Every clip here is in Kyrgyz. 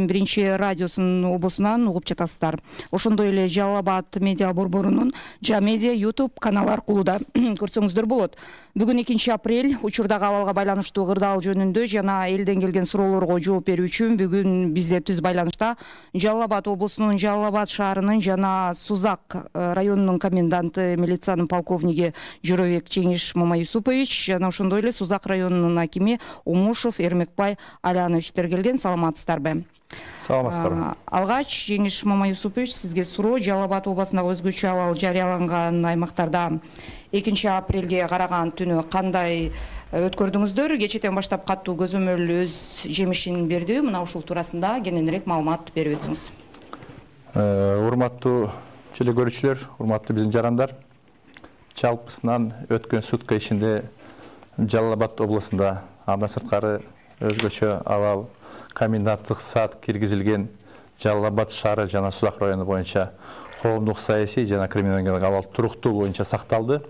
биринчи радиосунун обосунан угуп жатасыздар. Ошондой эле Жалал Абад медиа борборунун Жамедиа YouTube каналы аркылуу да көрсөңүздөр болот. Бүгүн 2-апрель учурдагы абалга байланыштуу кырдаал жөнүндө жана элден келген суроолорго жооп берүү үчүн бүгүн бизде түз байланышта Жалал Абад облусунун Жалал Абад шаарынын жана Сузак районунун коменданты милициянын полковниги Жоробек Жеңиш Мамаюсупович жана ошондой эле Сузак районунун акими Умушев Эрмекбай Алановичтер келген. Саламатсыздарбы? Саламатсыздарбы. Алгач Жеңиш Мамаюсупович, сизге суроо. Жалал Абад областындагы өзгөчө абал жарыяланган аймактарда 2-апрелге караган түнү кандай өткөрдүңүздөр? Кечэтен баштап катуу көзөмөл өз жемишин берди. Мына ушул туурасында кененирээк маалымат берип өтсүңүз. Урматтуу телекөрүүчүлөр, урматтуу биздин жарандар, жалпысынан өткөн сутка ичинде Жалал Абад областында андан сырткары өзгөчө абал коменданттык саат киргизилген Жалал Абад шаары жана Сузак району боюнча коомдук саясий жана криминалдык абал туруктуу боюнча сакталды.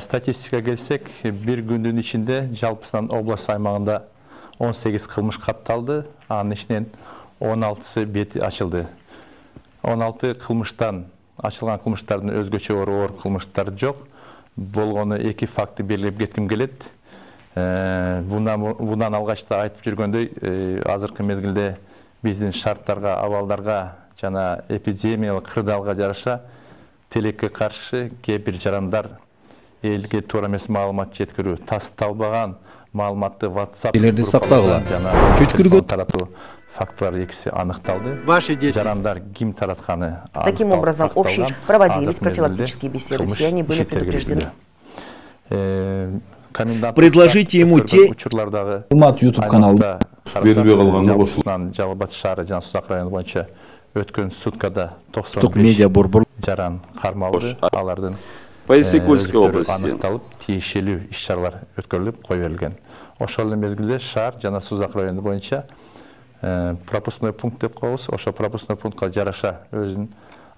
Статистикага келсек, бир күндүн ичинде жалпысынан область аймагында 18 кылмыш катталды, анын ичинен 16сы бети ачылды. 16 кылмыштан ачылган кылмыштардын өзгөчө оор кылмыштар жок. Болгону 2 факты белгилеп кетким келет. Bundan алгачта айтып жүргөндөй, азыркы мезгилде биздин шарттарга, абалдарга жана эпидемиялык кырдаалга жараша тилекке каршы кээ бир жарандар элге туура эмес маалымат жеткирүү, тасталбаган маалыматты WhatsApp сактагыла, чөчкүргө таратуу фактылар экиси аныкталды. Жарандар ким таратканы Таким образом, общие проводились профилактические беседы, все они были предупреждены. Предложите ему те формат YouTube каналда бербей калганда кошулган Жалал Абад шаары жана Сузак району боюнча өткөн суткада 95 медиа борбор жаран кармалды. Алардын по Иссык-Кульской области аныкталып, тиешелүү иш-чаралар өткөрүлүп кое берилген. Ошол эле мезгилде шаар жана Сузак району боюнча пропускной пункт деп коебуз. Ошо пропускной пунктка жараша өзүнүн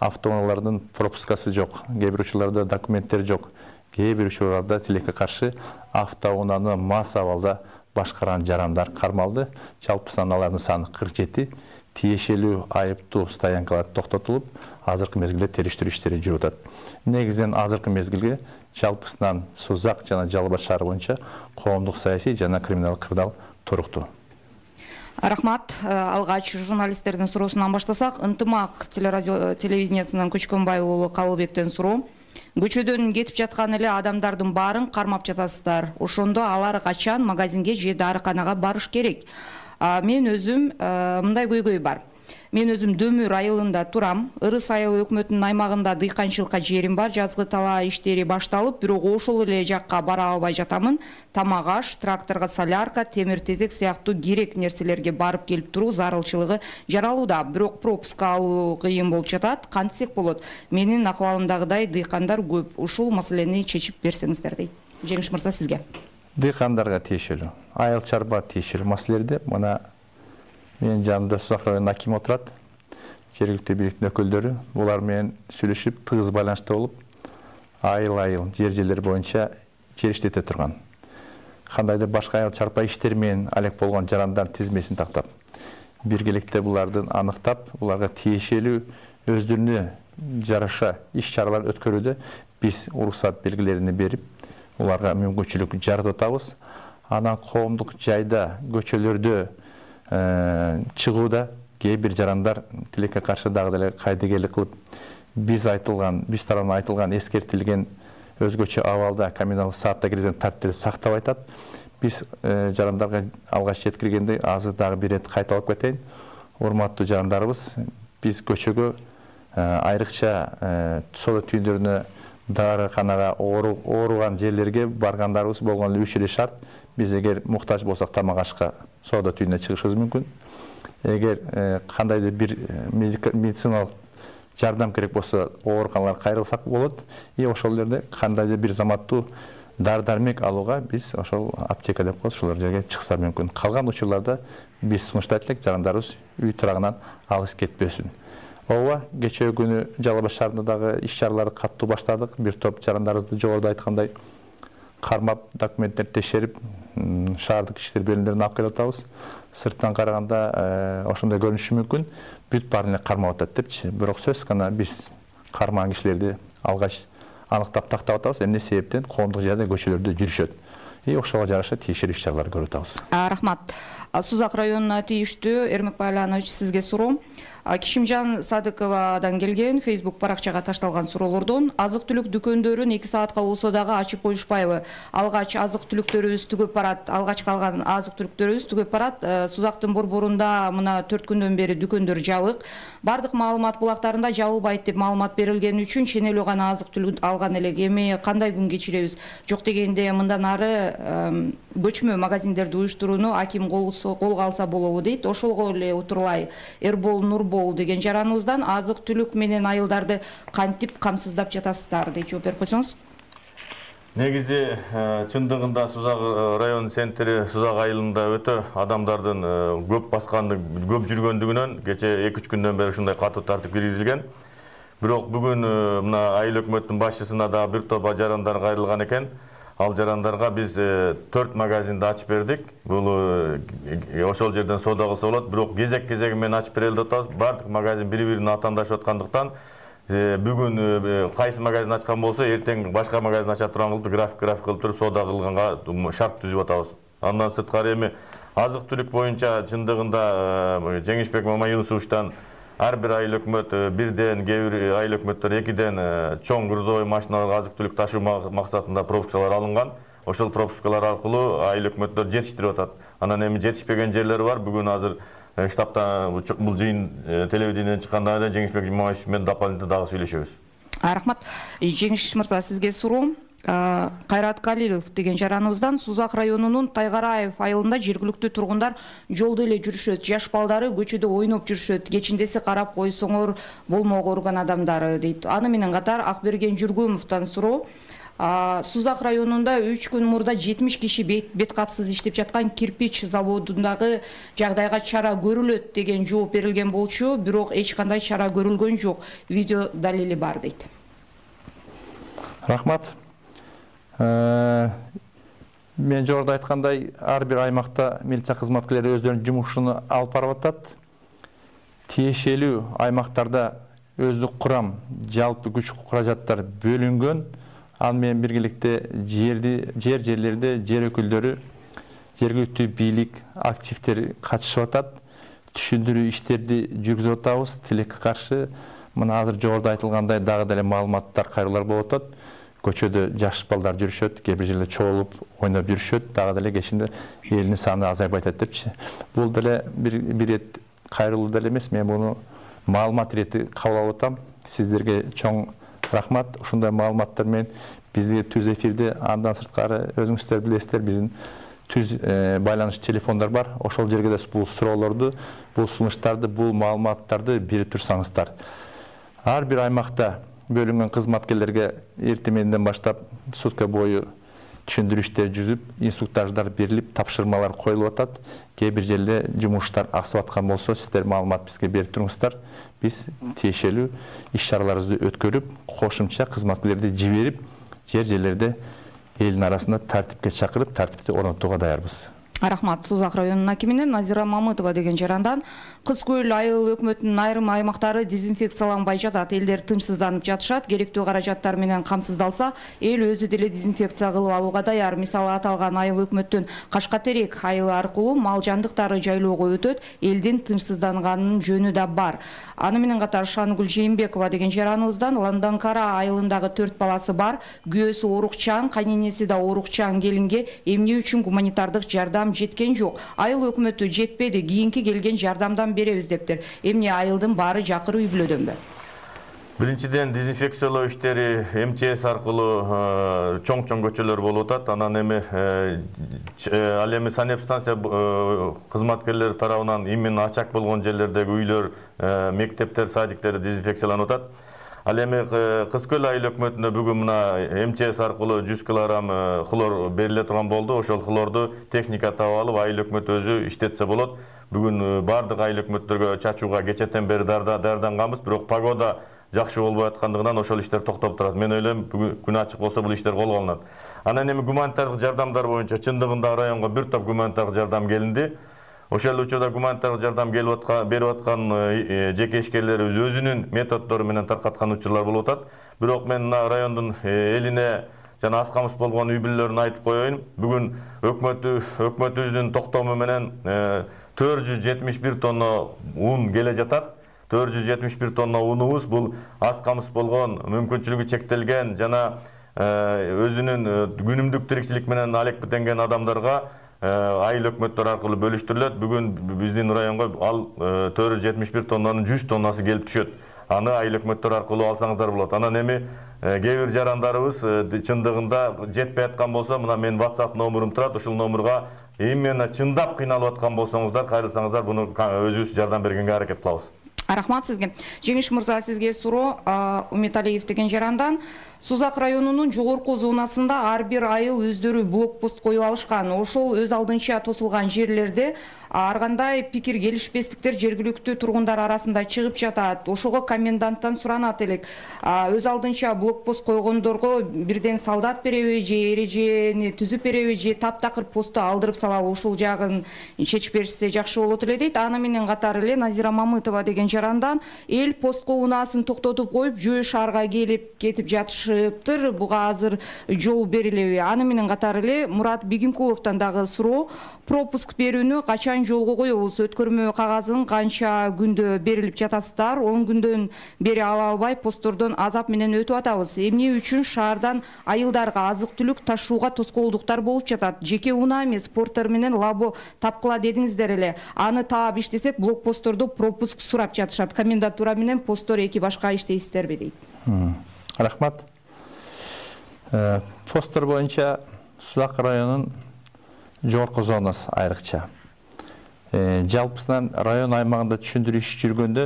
автоунаалардын пропускасы жок, кээ бир учурларда документтер жок, кээ бир учурларда тилекке каршы автоунааны мас абалда башкарган жарандар кармалды. Жалпысынан алардын саны 47, тиешелүү айыптуу стоянкалар токтотулуп, азыркы мезгилде териштирүү иштери жүрүп атат. Негизинен азыркы мезгилге жалпысынан Сузак жана Жалал Абад шаары боюнча коомдук саясий жана криминалдык кырдаал туруктуу. Рахмат. Алгач журналисттердин суроосунан баштасак, Ынтымак телевидениясынан Көчкөнбай уулу Калыбектен суроо. Көчөдөн кетип жаткан эле адамдардын баарын кармап жатасыздар. Ошондо алар качан магазинге же дарыканага барыш керек? Мен өзүм мындай көйгөй бар. Мен өзүм Дөмүр айылында турам. Ырыс айылы өкмөтүнүн аймагында дыйканчылыкка жерим бар. Жазгы талаа иштери башталып, бирок ошол эле жакка бара албай жатамын. Тамак аш, тракторго солярка, темир тезек сыяктуу керек нерселерге барып келип туруу зарылчылыгы жаралууда. Бирок пропуска алуу кыйын болуп жатат. Кантсек болот? Менин акыбалымдагыдай дыйкандар көп. Ушул маселени чечип берсеңиздер дейт. Жеңиш мырза, сизге. Дыйкандарга тиешелүү, айыл чарба тиешелүү маселелерди мына менин жанымда Сузак районунун акими отурат, жергиликтүү бийликтин өкүлдөрү. Булар менен сүйлөшүп, тыгыз байланышта болуп, айыл жер-жерлер боюнча жер иштете турган. Кандайдыр башка айыл чарба иштери менен алек болгон жарандардын тизмесин тактап, биргеликте булардын аныктап, буларга тиешелүү өздөрүнө жараша иш-чаралар өткөрүүдө биз уруксат белгилерин берип, уларга мүмкүнчүлүк жаратып атабыз. Анан коомдук жайда, көчөлөрдө чыгууда кээ бир жарандар тилекке каршы дагы деле кайдыгерлик кылып, биз тарабынан айтылган эскертилген өзгөчө абалда коммуналдык саатта киргизген тартипти сактап айтат. Биз жарандарга алгач жеткиргендей азыр дагы бир рет кайталап кетейин. Урматтуу жарандарыбыз, биз көчөгө айрыкча соода түйүндөрүнө, дарыканага, ооруган жерлерге баргандарыбыз болгон эле 3 эле шарт. Биз эгер муктаж болсок тамак ашка соода түйүнүнө чыгышыбыз мүмкүн. Эгер кандайдыр бир медициналык жардам керек болсо, ооруканаларга кайрылсак болот. Ошол жерде кандайдыр бир заматтуу дар-дармек алууга биз ошол аптека деп коебуз, ошол жерге чыкса мүмкүн. Калган учурларда биз сунуштайт элек жарандарыбыз үй турагынан алыс кетпесин. Ооба, кечээ күнү Жалал Абад шаарында дагы иш-чараларды каттуу баштадык. Бир топ жарандарыбызды жогоруда айткандай кармап, документтерди текшерип, шаардык иштер бөлүмдөрүнө алып келип атабыз. сырттан караганда ошондой көрүнүшү мүмкүн. Бүт баарын эле кармап атат депчи. Бирок сөзсүз гана биз кармаган кишилерди алгач аныктап тактап атабыз. Эмне себептен коомдук жайда көчөлөрдө жүрүшөт. Ошого жараша тийиштүү иш-чаралар көрүп атабыз. Рахмат. Сузак районуна тийиштүү Эрмек Байланович, сизге суроо. Кишимжан Садыковадан келген Facebook баракчага ташталган суроолордон азык-түлүк дүкөндөрүн 2 саатка болсо дагы ачып коюшпайбы? Алгач азык-түлүктөрүбүз түгөп барат, алгач калган азык-түлүктөрүбүз түгөп барат. Сузактын борборунда мына 4 күндөн бери дүкөндөр жабык. Бардык маалымат булактарында жабылбайт деп маалымат берилгени үчүн ченелүү гана азык-түлүк алган элек. Эми кандай күн кечиребиз? Жок дегенде мындан ары көчмө магазиндерди уюштурууну аким колго алса болобу дейт. Ошолго эле утурлай Эрбол Нурбол деген жараныбыздан азык-түлүк менен айылдарды кантип камсыздап жатасыздар деп жооп берип койсоңуз. Негизи чындыгында Сузак район центри Сузак айылында өтө адамдардын көп басканды, көп жүргөндүгүнөн кече 2-3 күндөн бери ушундай катуу тартип киргизилген. Бирок бүгүн мына айыл өкмөттүн башчысына да бир топ жарандар кайрылган экен. Ал жарандарга биз 4 магазинди ачып бердик. Бул ошол жерден соода кылса болот. Бирок кезек-кезеги менен ачып берели деп атабыз. Бардык магазин бири-бирине атаандашып аткандыктан бүгүн кайсы магазин ачкан болсо, эртең башка магазин ача турган кылып график кылып туруп соода кылганга шарт түзүп атабыз. Андан сырткары эми азык-түлүк боюнча чындыгында Жеңишбек Мамаюнусовичтан ар бир айыл өкмөт бирден, кээ бир айыл өкмөттөр 2ден чоң грузовой машиналар азык-түлүк ташуу максатында пропускалар алынган. Ошол пропускалар аркылуу айыл өкмөттөр жетиштирип атат. Анан эми жетишпеген жерлери бар. Бүгүн азыр штабта бул жыйын телевидениеден чыккандан кийин Жеңишбек Жумабаевич менен дополнительно дагы сүйлөшөбүз. Рахмат. Жеңиш мырза, сизге суроо. Кайрат Калилов деген жараныбыздан Сузак районунун Тайгараев айылында жергиликтүү тургундар жолдо эле жүрүшөт. Жаш балдары көчөдө ойноп жүрүшөт. Кечиндеси карап койсоңор болмок орган адамдары дейт. Аны менен катар Акберген Жүргөмовдон суроо. Сузак районунда 3 күн мурда 70 киши бет капсыз иштеп жаткан кирпич заводундагы жагдайга чара көрүлөт деген жооп берилген болчу, бирок эч кандай чара көрүлгөн жок. Видео далили бар дейт. Рахмат. Мен жогоруда айткандай, ар бир аймакта милиция кызматкерлери өздөрүнүн жумушун алып барып атат. Тиешелүү аймактарда өздүк курам, жалпы күч каражаттар бөлүнгөн. Ал менен биргеликте жерлерде жер өкүлдөрү, жергиликтүү бийлик активдери катышып атат. Түшүндүрүү иштерди жүргүзүп атабыз. Тилекке каршы мына азыр жогоруда айтылгандай дагы деле маалыматтар, кайрылуулар болуп атат. Көчөдө жаш балдар жүрүшөт, кээ бир жерде чогулуп ойноп жүрүшөт, дагы деле кечинде элдин саны азайбай атат депчи. Бул деле бир рет кайрылуу деле эмес, мен муну маалымат ирети кабыл алып атам. Сиздерге чоң рахмат. Ушундай маалыматтар менен бизге түз эфирде, андан сырткары өзүңүздөр билесиздер, биздин түз байланыш телефондар бар. Ошол жерге да бул суроолорду, бул сунуштарды, бул маалыматтарды берип турсаңыздар. Ар бир аймакта бөлүнгөн кызматкерлерге эртең мененден баштап сутка бою түшүндүрүү иштери жүрүп, инструктаждар берилип, тапшырмалар коюлуп атат. Кээ бир жерде жумуштар аксап аткан болсо, сиздер маалымат бизге берип туруңуздар. Биз тиешелүү иш-чараларыбызды өткөрүп, кошумча кызматкерлерди жиберип, жерлерде элдин арасында тартипке чакырып, тартипти орнотууга даярбыз. Рахмат. Сузак районунун акиминен Назира Мамытова деген жарандан Кыз Көл айыл өкмөтүнүн айрым аймактары дезинфекцияланбай жатат. Элдер тынчсызданып жатышат. Керектүү каражаттар менен камсыздалса, эл өзү деле дезинфекция кылып алууга даяр. Мисалы аталган айыл өкмөттүн Кашкатерек айылы аркылуу мал жандыктары жайлоого өтөт. Элдин тынчсызданганынын жөнү да бар. Аны менен катар Шангүл Жээнбекова деген жараныбыздан Ланданкара айылындагы 4 баласы бар. Күйөөсү оорукчан, кайненеси да оорукчан келинге эмне үчүн гуманитардык жардам жеткен жок. Айыл өкмөтү жетпеди, кийинки келген жардамдан беребиз дептир. Эмне айылдын баары жакыр үй бүлөдөнбү? Биринчиден дезинфекциялоо иштери МЧС аркылуу чоң көчөлөр болуп атат. Анан эми ал эми санэпстанция кызматкерлери тарабынан именно ачак болгон жерлердеги үйлөр, мектептер, садиктер дезинфекцияланып атат. Ал эми Кыз Көл айыл өкмөтүнө бүгүн мына МЧС аркылуу 100 кг хлор бериле турган болду. Ошол хлорду техника таап алып, айыл өкмөт өзү иштетсе болот. Бүгүн бардык айыл өкмөттөргө чачууга кечетен бери даярданганбыз, бирок погода жакшы болбой аткандыгынан ошол иштер токтоп турат. Мен ойлойм, бүгүн күн ачык болсо бул иштер колго алынат. Анан эми гуманитардык жардамдар боюнча чындыгында районго бир топ гуманитардык жардам келинди. ошол эле учурда гуманитардык жардам берип аткан жеке ишкерлер өзүнүн методдору менен таркаткан учурлар болуп атат. Бирок мен мына райондун элине жана аз камсыз болгон үй бүлөлөрүнө айтып коеюн. Бүгүн өкмөтүбүздүн токтому менен 471 тонна un келе жатат. 471 тонна унубуз бул аз камсыз болгон, мүмкүнчүлүгү чектелген жана өзүнүн күнүмдүк тиричилик менен алекпитенген адамдарга айыл өкмөттөр аркылуу бөлүштүрүлөт. Бүгүн биздин районго ал 471 тоннанын 100 тоннасы келип түшөт. Аны айыл өкмөттөр аркылуу алсаңыздар болот. Анан эми кээ бир жарандарыбыз чындыгында жетпей аткан болсо, мына мен WhatsApp номерум турат. Ушул номерга именно чындап кыйналып аткан болсоңуздар, кайрылсаңыздар, буну өзүбүз жардам бергенге аракет кылабыз. Рахмат сизге. Жеңиш мырза, сизге суроо Уметалиев деген жарандан. Сузак районунун жогорку зонасында ар бир айыл өздөрү блокпост коюп алышкан. Ошол өз алдынча тосулган жерлерде ар кандай пикир келишпестиктер жергиликтүү тургундар арасында чыгып жатат. Ошого коменданттан суранат элек. Өз алдынча блокпост койгондорго бирден солдат береби же эрежени түзүп береби же таптакыр посту алдырып салабы, ушул жагын чечип беришсе жакшы болот эле дейт. Аны менен катары эле Назира Мамытова деген жарандан эл постко унаасын токтотуп коюп, Жөө шаарга келип кетип жатышыптыр. Буга азыр жол берилеби? Аны менен катары эле Мурат Бегимкуловдон дагы суроо. Пропуск берүүнү качан жолго коебуз? Өткөрмө кагазын канча күндө берилип жатасыздар? 10 күндөн бери ала албай посттордон азап менен өтүп атабыз. Эмне үчүн шаардан айылдарга азык-түлүк ташууга тоскоолдуктар болуп жатат? Жеке унаа эмес, порттор менен лабо тапкыла дедиңиздер эле. Аны таап иштесек, блокпосттордо пропуск сурап жатышат. Комендатура менен посттор эки башка иштейсиздерби дейт. Рахмат. Посттор боюнча Сузак районунун жогорку зонасы айрыкча. Жалпысынан район аймагында түшүндүрүү иши жүргөндө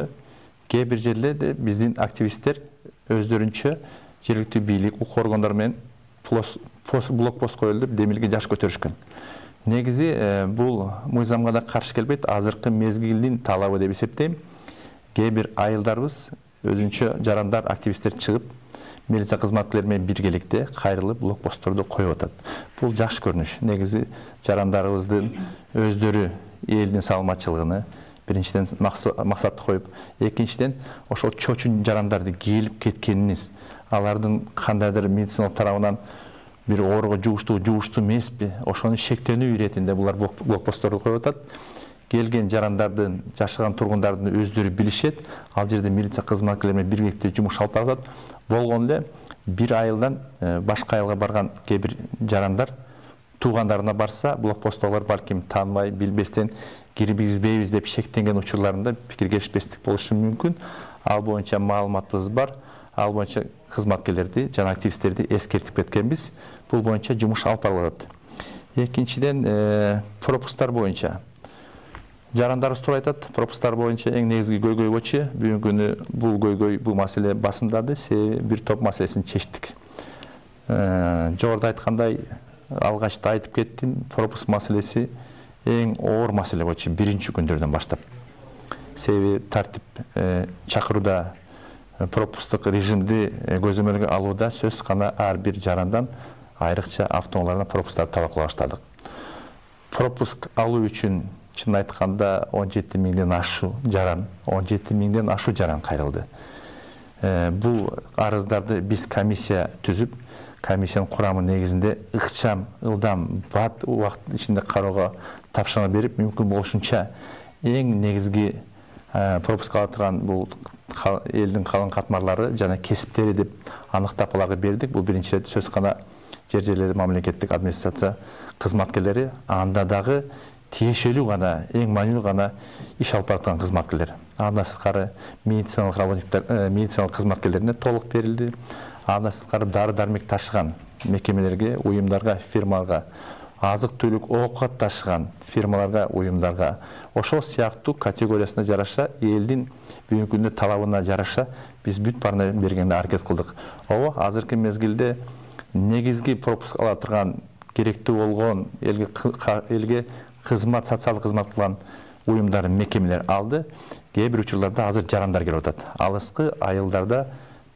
кээ бир жерлерде биздин активисттер өздөрүнчө жергиликтүү бийлик, укук органдары менен блокпост коюлду деп демилге жаш көтөрүшкөн. Негизи бул мыйзамга да каршы келбейт, азыркы мезгилдин талабы деп эсептейм. Кээ бир айылдарыбыз өзүнчө жарандар, активисттер чыгып, милиция кызматкерлери менен биргеликте кайрылып блокпостторду коюп атат. Бул жакшы көрүнүш. Негизи жарандарыбыздын өздөрү элдин саламатчылыгыны биринчиден максат коюп, экинчиден ошол чочун жарандарды келип кеткениниз, алардын кандайдыр медициналык тарабынан бир ооруга жугуштуу эмеспи, ошону шектенүү иретинде булар блокпостторду коюп атат. Келген жарандардын, жашаган тургундардын өздөрү билишет. Ал жерде милиция кызматкерлери менен биргеликте жумуш алып барат. Болгон эле бир айылдан башка айылга барган кээ бир жарандар туугандарына барса, блокпосттогулар балким тааныбай, билбестен киргизбейбиз деп шектенген учурларында пикир келишпестик болушу мүмкүн. Ал боюнча маалыматыбыз бар. Ал боюнча кызматкерлерди жана активисттерди эскертип кеткенбиз. Бул боюнча жумуш алып барылат. Экинчиден, пропусктар боюнча жарандарыбыз туура айтат. Пропусктар боюнча эң негизги көйгөй болчу. Бүгүнкү күнү бул маселе басымдады. Бир топ маселесин чечтик. Жогоруда айткандай, алгачта айтып кеттим, пропуск маселеси эң оор маселе болчу биринчи күндөрдөн баштап. Себеби тартип чакырууда пропусктук режимди көзөмөлгө алууда сөз гана ар бир жарандан айрыкча автоунаалардан пропусктарды талап кыла баштадык. Пропуск алуу үчүн чын айтканда 17 миңден ашу жаран кайрылды. Бул арыздарды биз комиссия түзүп, комиссиянын курамы негизинде ыкчам, ылдам, бат убакыт ичинде кароого тапшырма берип, мүмкүн болушунча эң негизги пропуск ала турган бул элдин калың катмарлары жана кесиптери деп аныктап аларга бердик. Бул биринчи рет сөз гана жер-жерлерде мамлекеттик администрация кызматкерлери, анда дагы тиешелүү гана, эң маанилүү гана иш алып бараткан кызматкерлер. Андан сырткары медициналык работниктер, медициналык кызматкерлерине толук берилди. Андан сырткары дары-дармек ташыган мекемелерге, уюмдарга, фирмаларга, азык-түлүк, оокат ташыган фирмаларга, уюмдарга, ошол сыяктуу категориясына жараша, элдин бүгүнкү күндө талабына жараша биз бүт баарына бергенге аракет кылдык. Азыркы мезгилде негизги пропуск ала турган, керектүү болгон элге кызмат, социалдык кызмат кылган уюмдар, мекемелер алды. Кээ бир учурларда азыр жарандар келип атат. Алыскы айылдарда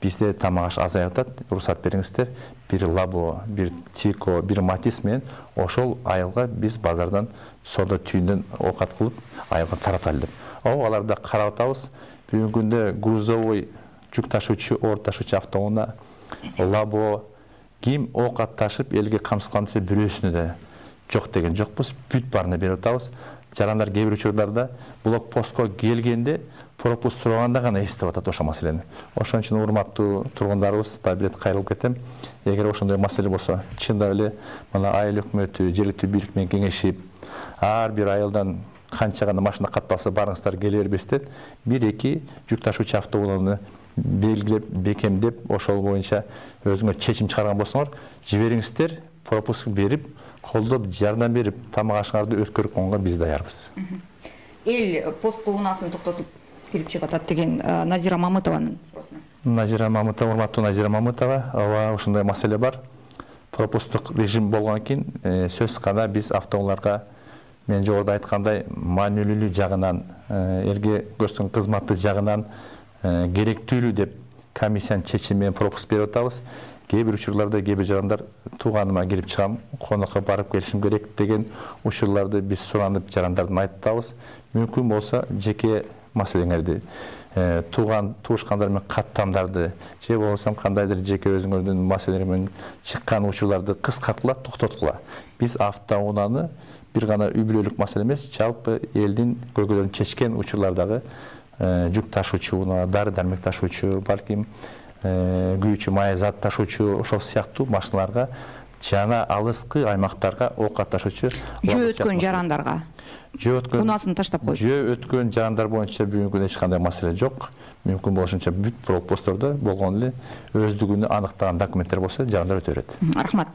бизде тамак аш азайып атат. Уруксат бериңиздер, бир лабо, бир тико, бир матис менен ошол айылга биз базардан соода түйүндөн оокат кылып айылга тараталы деп. Аларды карап атабыз. Бүгүнкү күндө грузовой жүк ташуучу, оор ташуучу автоунаа, лабо ким оокат ташып элге камсыздандырса бирөөсүнө да жок деген жокпуз. Бүт баарына берип атабыз. Жарандар кээ бир учурларда блокпостко келгенде пропуск сураганда гана эстеп атат ошол маселени. Ошон үчүн урматтуу тургундарыбыз, табилет кайрылып кетем. Эгер ошондой маселе болсо, чындап эле мына айыл өкмөтү, жергиликтүү бийлик менен кеңешип, ар бир айылдан канча гана машина катталса барыңыздар келе бербестен, 1-2 жүк ташуучу автоунааны белгилеп, бекемдеп, ошол боюнча өзүңөр чечим чыгарган болсоңор, жибериңиздер, пропуск берип, колдоп, жардам берип, тамак ашыңарды өткөрүп коюнга биз даярбыз. Эл постко унаасын токтотуп кирип чыгып атат деген Назира Мамытованын суроосуна. Назира Мамытова, урматтуу Назира Мамытова, ооба ошондой маселе бар. Пропусктук режим болгондон кийин сөз гана биз автоунааларга мен жогоруда айткандай маанилүүлүгү жагынан, элге көрсөткөн кызматы жагынан керектүүлүгү деп комиссиянын чечими менен пропуск берип атабыз. Кээ бир учурларда кээ бир жарандар тууганыма кирип чыгам, конокко барып келишим керек деген учурларды биз суранып жарандардын айтып атабыз. Мүмкүн болсо жеке маселеңерди, туушкандар менен каттамдарды, же болбосо кандайдыр жеке өзүңөрдүн маселелер менен чыккан учурларды кыскарткыла, токтоткула. Биз автоунааны бир гана үй-бүлөлүк маселе эмес, жалпы элдин көйгөйлөрүн чечкен учурлардагы жүк ташуучу унаа, дары-дармек ташуучу, балким күйүүчү май зат ташуучу, ошол сыяктуу машиналарга жана алыскы аймактарга оокат ташуучу жөө өткөн жарандарга унаасын таштап коюп. Жөө өткөн жарандар боюнча бүгүнкү күндө эч кандай маселе жок. Мүмкүн болушунча бүт блокпосттордо болгон эле өздүгүнө аныктаган документтер болсо жарандар өтө берет. Рахмат.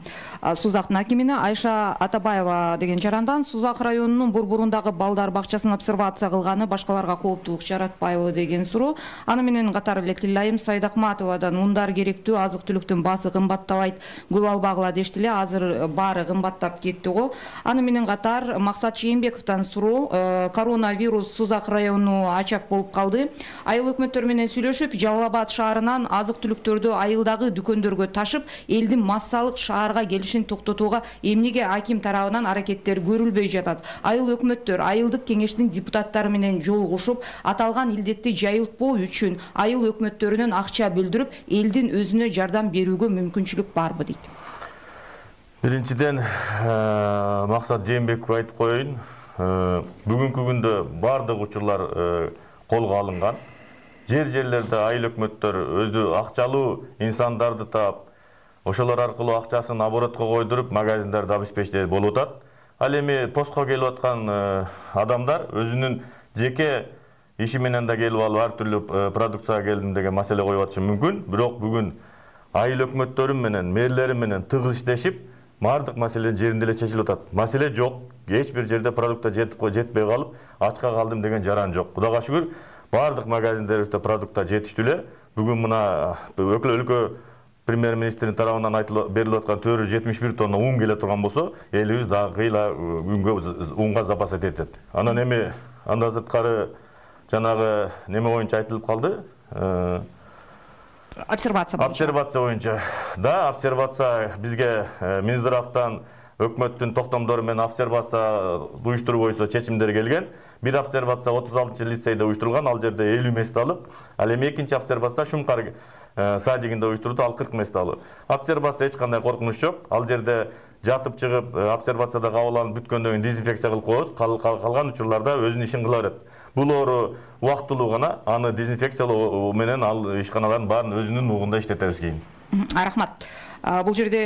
Сузактын акимине Айша Атабаева деген жарандан Сузак районунун борборундагы балдар бакчасын обсервация кылганы башкаларга кооптулук жаратпайбы деген суроо. Аны менен катар эле Тилайым Сайдакматовадан ундар керектүү, азык-түлүктүн баасы кымбаттабайт, көп албагыла дешти эле, азыр баары кымбаттап кетти го. Аны менен катар Максат Чейинбековдон суроо, коронавирус Сузак районуна ачак болуп калды. Айыл өкмөттөр менен сүйлөшүп, Жалал Абад шаарынан азык-түлүктөрдү айылдагы дүкөндөргө ташып, элдин массалык шаарга келишин токтотууга эмнеге аким тарабынан аракеттер көрүлбөй жатат? Айыл өкмөттөр айылдык кеңештин депутаттары менен жолугушуп, аталган илдетти жайылтпоо үчүн айыл өкмөттөрүнөн акча бөлдүрүп, элдин өзүнө жардам берүүгө мүмкүнчүлүк барбы дейт. Биринчиден, Максат Жээнбековго айтып коеюн. Бүгүнкү күндө бардык учурлар колго алынган. Жерлерде айыл өкмөттөр өзү акчалуу инсандарды таап, ошолор аркылуу акчасын оборотко койдуруп, магазиндерди обеспечить болуп атат. Ал эми постко келип аткан адамдар өзүнүн жеке иши менен да келип алып, ар түрдүү продукцияга келдим деген маселе коюп атышы мүмкүн. Бирок бүгүн айыл өкмөттөрү менен, мэрлери менен тыгыз иштешип, бардык маселе жеринде эле чечилип атат. Маселе жок. Эч бир жерде продукта жетпей калып, ачка калдым деген жаран жок. Кудайга шүгүр, бардык магазиндерибизде продукта жетиштүү эле. Бүгүн мына өлкө премьер-министрдин тарабынан берилип аткан 471 тонна ун келе турган болсо, элибиз дагы кыйла күнгө унга запас этет. Анан эми андан сырткары жанагы неме боюнча айтылып калды. Обсервация боюнча. Да, обсервация бизге Минздравтан өкмөттүн токтомдору менен обсервация уюштуруу боюнча чечимдер келген. Бир обсервация 36 лицейде уюштурулган, ал жерде 50 мест алып, ал эми экинчи обсервация Шумкар садигинде уюштурулду, ал 40 мест алып. Обсервация эч кандай коркунуч жок. Ал жерде жатып чыгып, обсервацияда кабыл алынып бүткөндөн кийин дезинфекция кылып коебуз, калган учурларда өзүнүн ишин кыла берет. Бул оору убактылуу гана, аны дезинфекциялоо менен ал ишканалардын баарын өзүнүн угунда иштетебиз кийин. Рахмат. Бул жерде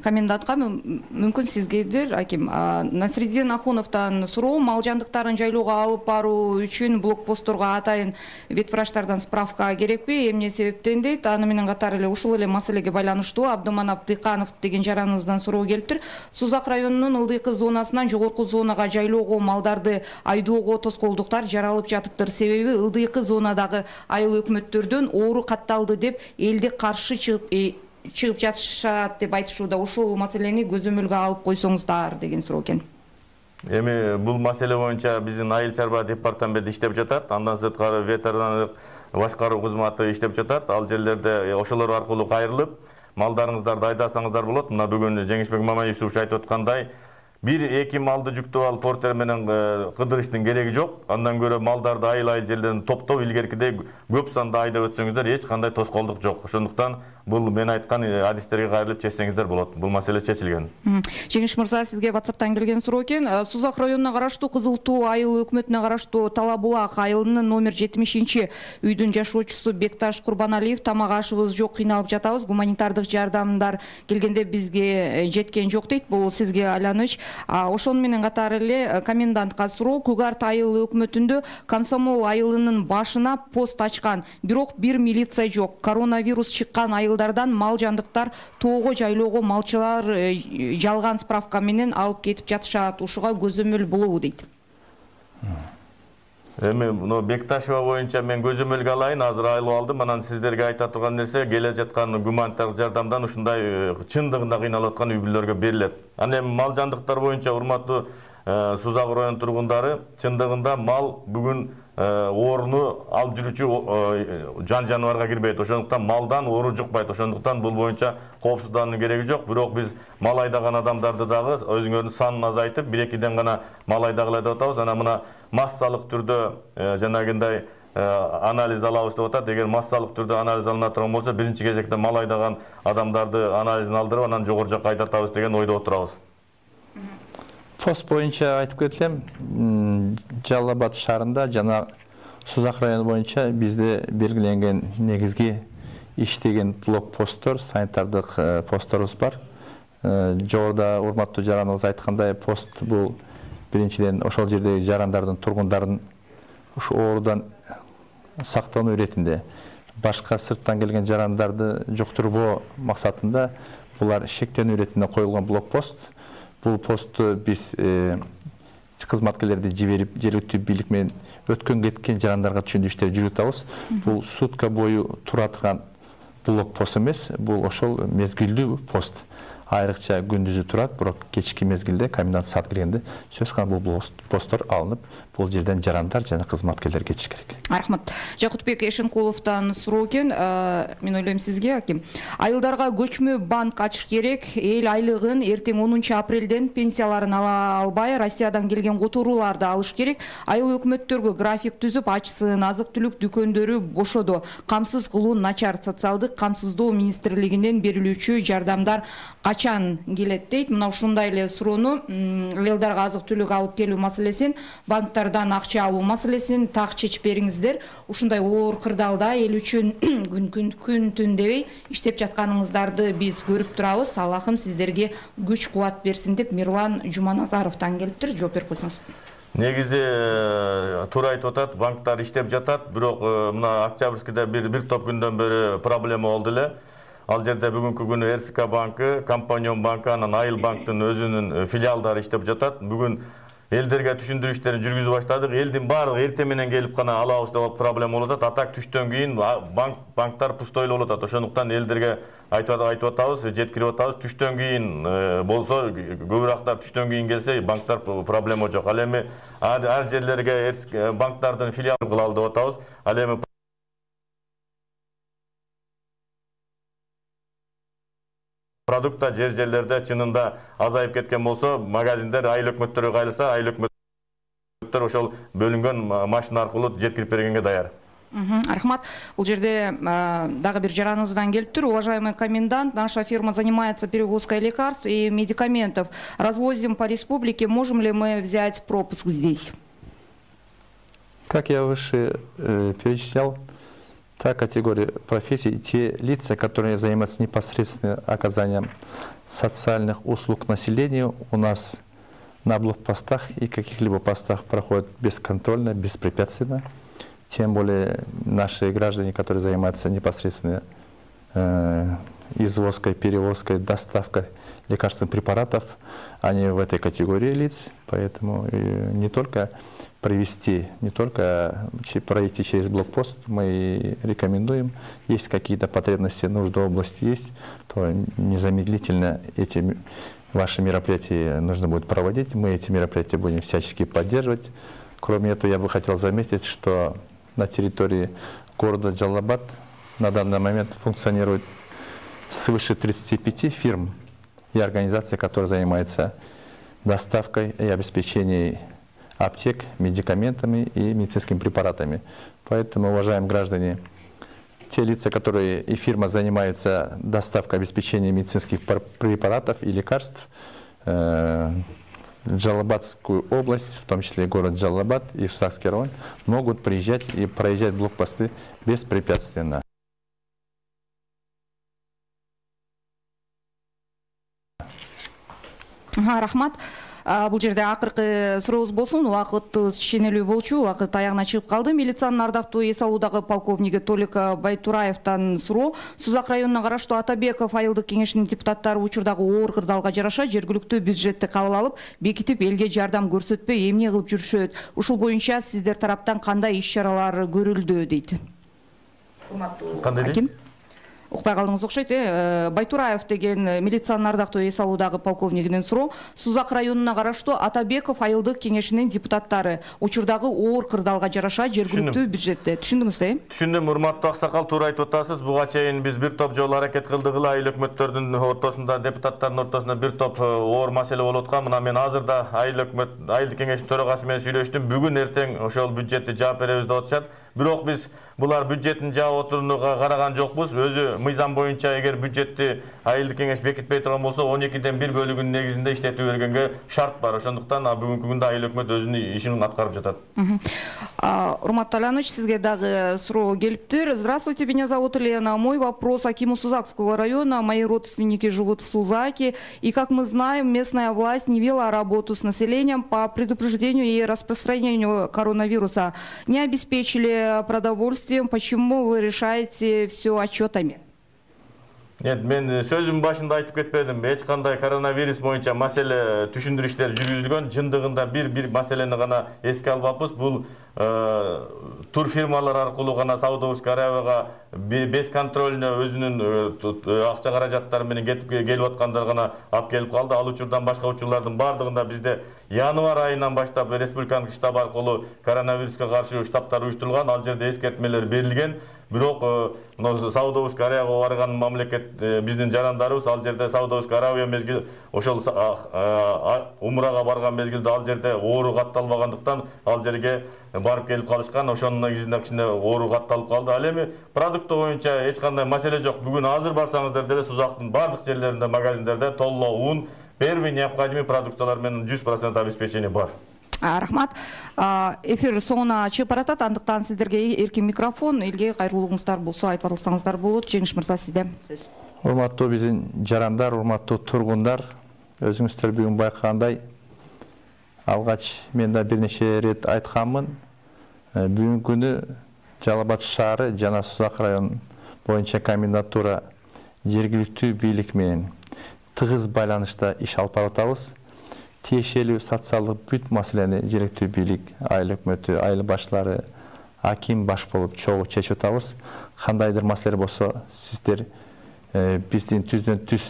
комендантка мүмкүн сизгедир, аким. Насриддин Ахуновдон суроо, мал жандыктарын жайлоого алып баруу үчүн блокпостторго атайын ветврачтардан справка керекпи? Эмне себептен дейт? Аны менен катар эле ушул эле маселеге байланыштуу Абдыманап Дыйканов деген жараныбыздан суроо келиптир. Сузак районунун ылдыйкы зонасынан жогорку зонага жайлоого малдарды айдоого тоскоолдуктар жаралып жатыптыр. Себеби ылдыйкы зонадагы айыл өкмөттөрдөн оору катталды деп элди каршы чыгып жатышат деп айтышууда. Ушул маселени көзөмөлгө алып койсоңуздар деген суроо экен. Эми бул маселе боюнча биздин айыл чарба департаменти иштеп жатат. Андан сырткары ветеринардык башкаруу кызматы иштеп жатат. Ал жерлерде ошолор аркылуу кайрылып, малдарыңыздарды айдасаңыздар болот. Мына бүгүн Жеңишбек Мамаюсупович айтып аткандай, 1-2 малды жүктөп алып портер менен кыдырыштын кереги жок. Андан көрө малдарды айыл жерлерден топтоп илгеркидей көп санда айдап өтсөңүздөр эч кандай тоскоолдук жок. Ошондуктан бул мен айткан адистерге кайрылып чечсеңиздер болот. Бул маселе чечилген. Жеңиш мырза, сизге WhatsApp'тан келген суроо экен. Сузак районуна караштуу Кызыл Туу айыл өкмөтүнө караштуу Талабулак айылынын номер 70 үйдүн жашоочусу Бекташ Курбаналиев тамак ашыбыз жок, кыйналып жатабыз. Гуманитардык жардамдар келгенде бизге жеткен жок дейт. Бул сизге айланыч. Ошону менен катары эле комендантка суроо. Кугарт айыл өкмөтүндө Комсомол айылынын башына пост ачкан, бирок бир милиция жок. Коронавирус чыккан айылдардан мал жандыктар тоого жайлоого малчылар жалган справка менен алып кетип жатышат. Ушуга көзөмөл болобу дейт. Эми мына Бекташева боюнча мен көзөмөлгө алайын, азыр айлып алдым. Анан сиздерге айта турган нерсе, келе жаткан гуманитардык жардамдан ушундай чындыгында кыйналып аткан үй-бүлөлөргө берилет. Анан эми мал жандыктар боюнча урматтуу Сузак район тургундары, чындыгында мал бүгүн ооруну алып жүрүүчү жан жаныбарга кирбейт. Ошондуктан малдан оору жукпайт. Ошондуктан бул боюнча коопсуздандын кереги жок. Бирок биз мал айдаган адамдарды дагы өзүңөрдүн санын азайтып, 1-2ден гана мал айдагыла деп атабыз. Анан мына массалык түрдө жанагындай анализ алабыз деп атат. Эгер массалык түрдө анализ алына турган болсо, биринчи кезекте мал айдаган адамдарды анализин алдырып, анан жогору жакка айдатабыз деген ойдо отурабыз. Пост боюнча айтып кетелем, Жалал Абад шаарында жана Сузак району боюнча бизде белгиленген негизги иштеген блокпосттор, санитардык постторубуз бар. Жогоруда урматтуу жараныбыз айткандай, пост бул биринчиден ошол жердеги жарандардын, тургундардын ушу оорудан сактануу иретинде, башка сырттан келген жарандарды жуктурбоо максатында булар шектенүү иретинде коюлган блокпост. Бул постту биз кызматкерлерди жиберип, жергиликтүү бийлик менен өткөн кеткен жарандарга түшүндүрүү иштери жүргүзүп атабыз. Бул сутка бою тура турган блокпост эмес, бул ошол мезгилдүү пост. Айрыкча күндүзү турат, бирок кечки мезгилде комендант саат киргенде сөз кылган бул посттор алынып, бул жерден жарандар жана кызматкерлер кетиш керек. Рахмат. Жакутбек Эшенкуловдон суроо экен. Мен ойлойм сизге, аким. Айылдарга көчмө банк ачыш керек. Эл айлыгын эртең 10 апрелден пенсияларын ала албай, Россиядан келген которууларды алыш керек. Айыл өкмөттөргө график түзүп, ачсын, азык-түлүк дүкөндөрү бошоду. Камсыз кылуу начар. Социалдык камсыздоо министрлигинен берилүүчү жардамдар качан келет дейт. Мына ушундай эле суроону айылдарга азык-түлүк алып келүү маселесин, банктардан акча алуу маселесин так чечип бериңиздер. Ушундай оор кырдаалда эл үчүн күн түн дебей иштеп жатканыңыздарды биз көрүп турабыз. Аллахым сиздерге күч кубат берсин деп Мирлан Жуманазаровдон келиптир. Жооп берип койсоңуз. Негизи туура айтып атат, банктар иштеп жатат, бирок мына Октябрьскийде бир топ күндөн бери проблема болду эле. Ал жерде бүгүнкү күнү РСК банкы, Компанион банкы, анан Айыл банктын өзүнүн филиалдары иштеп жатат. Бүгүн элдерге түшүндүрүү иштерин жүргүзүп баштадык. Элдин баардыгы эртең менен келип гана алабыз деп проблема болуп атат. Атак түштөн кийин банктар пустой болуп атат. Ошондуктан элдерге айтып атабыз, жеткирип атабыз. Түштөн кийин болсо, көбүрөөктөр түштөн кийин келсе, банктар проблема жок. Ал эми ар жерлерге банктардын филиалын кылалы деп атабыз. Ал эми продукта жерлерде чынында азайып кеткен болсо, магазиндер айыл өкмөттөргө кайрылса, айыл өкмөттөр ошол бөлүнгөн машина аркылуу жеткирип бергенге даяр. Рахмат. Бул жерде дагы бир жараныбыздан келиптир. Уважаемый комендант, наша фирма занимается перевозкой лекарств и медикаментов. Развозим по республике. Можем ли мы взять пропуск здесь? Как я выше перечислял, та категория профессий, те лица, которые занимаются непосредственно оказанием социальных услуг населению, у нас на блокпостах и каких-либо постах проходят бесконтрольно, беспрепятственно. Тем более наши граждане, которые занимаются непосредственно извозкой, перевозкой, доставкой лекарственных препаратов, они в этой категории лиц, поэтому не только провести, не только пройти через блокпост, мы рекомендуем, есть какие-то потребности, нужды в области есть, то незамедлительно эти ваши мероприятия нужно будет проводить, мы эти мероприятия будем всячески поддерживать. Кроме этого, я бы хотел заметить, что на территории города Джалал Абад на данный момент функционирует свыше 35 фирм и организаций, которые занимаются доставкой и обеспечением аптек медикаментами и медицинскими препаратами. Поэтому, уважаемые граждане, те лица, которые и фирма занимаются доставкой, обеспечением медицинских препаратов и лекарств, Джалалабадскую область, в том числе город Джалалабад и Сакский район, могут приезжать и проезжать блокпосты беспрепятственно. Рахмат. Бул жерде акыркы сурообуз болсун. Убакытыбыз кичинелүү болчу. Убакыт аягына чыгып калды. Милициянын ардактуу эс алуудагы полковниги Толик Байтураевден суроо. Сузак районуна караштуу Атабеков айылдык кеңешинин депутаттары учурдагы оор кырдаалга жараша жергиликтүү бюджетти кабыл алып, бекитип элге жардам көрсөтпөй эмне кылып жүрүшөт? Ушул боюнча сиздер тараптан кандай иш-чаралар көрүлдү дейт. Кандай дейт? Укпай калдыңыз окшойт. Байтураев деген милициянын ардактуу эс алуудагы полковнигинин суроо. Сузак районуна караштуу Атабеков айылдык кеңешинин депутаттары учурдагы оор кырдаалга жараша жергиликтүү бюджетте. Түшүндүңүз да? Түшүндүм, урматтуу аксакал, туура айтып атасыз. Буга чейин биз бир топ жолу аракет кылдык эле, айыл өкмөттөрдүн ортосунда, депутаттардын ортосунда бир топ оор маселе болуп аткан. Мына мен азырда айылдык кеңештин төрагасы менен сүйлөштүм. Бүгүн эртең ошол бюджетти жаап беребиз деп атышат. Бирок биз булар бюджеттин жаап отурууга караган жокпуз. Өзү мыйзам боюнча эгер бюджетти айылдык кеңеш бекитпей турган болсо, 12ден 1 бөлүгүнүн негизинде иштетип бергенге шарт бар. Ошондуктан бүгүнкү күндө айыл өкмөт өзүнүн ишин аткарып жатат. Урматтуу Аланыч, сизге дагы суроо келиптир. Здравствуйте, меня зовут Лена. Мой вопрос акиму Сузакского района. Мои родственники живут в Сузаке. И, как мы знаем, местная власть не вела работу с населением по предупреждению и распространению коронавируса. Не обеспечили продовольствием. Почему вы решаете все отчетами? Нет, мен сөзүмдүн башында айтып кетпедим. Эч кандай коронавирус боюнча маселе түшүндүрүү иштери жүргүзүлгөн. Жындыгында бир маселени гана эске албаппыз. Бул тур фирмалар аркылуу гана Саудовский Аравияга без контролуна өзүнүн акча каражаттары менен келип аткандар гана алып келип калды. Ал учурдан башка учурлардын бардыгында бизде январь айынан баштап республикалык штаб аркылуу коронавируска каршы штабтар уюштурулган. Ал жерде эскертмелер берилген. Бирок Саудовский Аравияга барган мамлекет биздин жарандарыбыз ал жерде Саудовский Аравия мезгил ошол умрага барган мезгилде ал жерде оору катталбагандыктан ал жерге барып келип калышкан. Ошонун негизинде кичине оору катталып калды. Ал эми продукты боюнча эч кандай маселе жок. Бүгүн азыр барсаңыздар деле Сузактын бардык жерлеринде, магазиндерде толло ун, первый необходимый продукциялар менен 100% обеспечение бар. Рахмат. Эфир соңуна чыгып баратат. Андыктан сиздерге эркин микрофон, элге кайрылууңуздар болсо айтып алсаңыздар болот. Жеңиш мырза, сизде сөз. Урматтуу биздин жарандар, урматтуу тургундар, өзүңүздөр бүгүн байкагандай, алгач мен да бир нече рет айтканмын. Бүгүнкү күнү Жалал-Абад шаары жана Сузак район боюнча комендатура жергиликтүү бийлик менен тыгыз байланышта иш алып баратабыз. Тиешелүү социалдык бүт маселени жергиликтүү бийлик, айыл өкмөтү, айыл башлары, аким баш болуп чогуу чечип атабыз. Кандайдыр маселе болсо сиздер биздин түздөн түз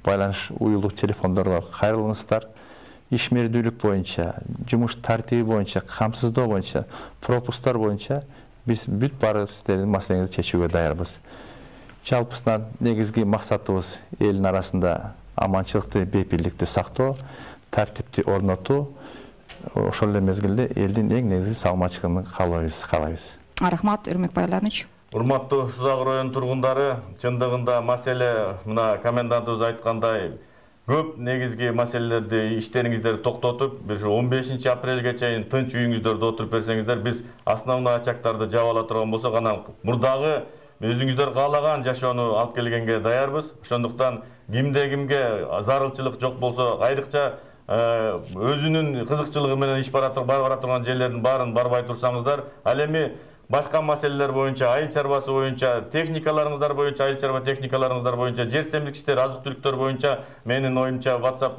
байланыш уюлдук телефондорго кайрылыңыздар. Ишмердүүлүк боюнча, жумуш тартиби боюнча, камсыздоо боюнча, пропусктар боюнча биз бүт баары сиздердин маселеңизди чечүүгө даярбыз. Жалпысынан негизги максатыбыз элдин арасында аманчылыкты, бейпирликти сактоо, тартипти орнотуу, ошол эле мезгилде элдин эң негизги саламатчылыгын каалайбыз. Рахмат, Өрмөкбай Аланыч. Урматтуу Сузак район тургундары, чындыгында маселе мына комендантыбыз айткандай көп негизги маселелерди иштериңиздерди токтотуп, бир 15 апрелге чейин тынч үйүңүздөрдө отуруп берсеңиздер, биз основной очактарды жаап ала турган болсок, анан мурдагы өзүңүздөр каалаган жашоону алып келгенге даярбыз. Ошондуктан кимде зарылчылык жок болсо, айрыкча өзүнүн кызыкчылыгы менен иш бара турган жерлердин баарын барбай турсаңыздар, ал эми башка маселелер боюнча, айыл чарбасы боюнча, техникаларыңыздар боюнча, айыл чарба техникаларыңыздар боюнча, жер семилик иштер, азык-түлүктөр боюнча менин оюмча WhatsApp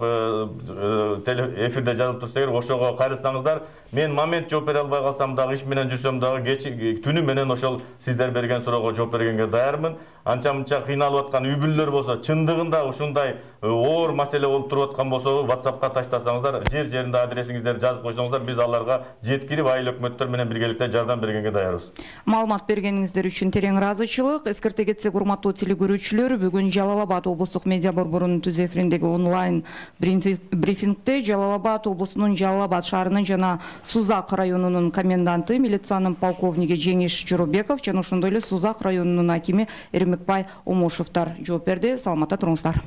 эфирде жазылып турса эгер, ошого кайрылсаңыздар, мен момент жооп бере албай калсам дагы, иш менен жүрсөм дагы түнү менен ошол сиздер берген суроого жооп бергенге даярмын. Анча-мынча кыйналып аткан үй-бүлөлөр болсо, чындыгында ушундай оор маселе болуп туруп аткан болсо, WhatsAppка таштасаңыздар, жер-жеринде адресиңиздерди жазып койсоңуздар, биз аларга жеткирип айыл өкмөттөр менен биргеликте жардам бергенге даярбыз. каалайбыз. Маалымат бергениңиздер үчүн терең ыраазычылык. Эскерте кетсек, урматтуу телекөрүүчүлөр, бүгүн Жалал Абад облустук медиа борборунун түз эфириндеги онлайн брифингде Жалал Абад облусунун Жалал Абад шаарынын жана Сузак районунун коменданты, милициянын полковниги Жеңиш Жоробеков жана ошондой эле Сузак районунун акими Эрмекбай Омошевдор жооп берди. Саламатта туруңуздар.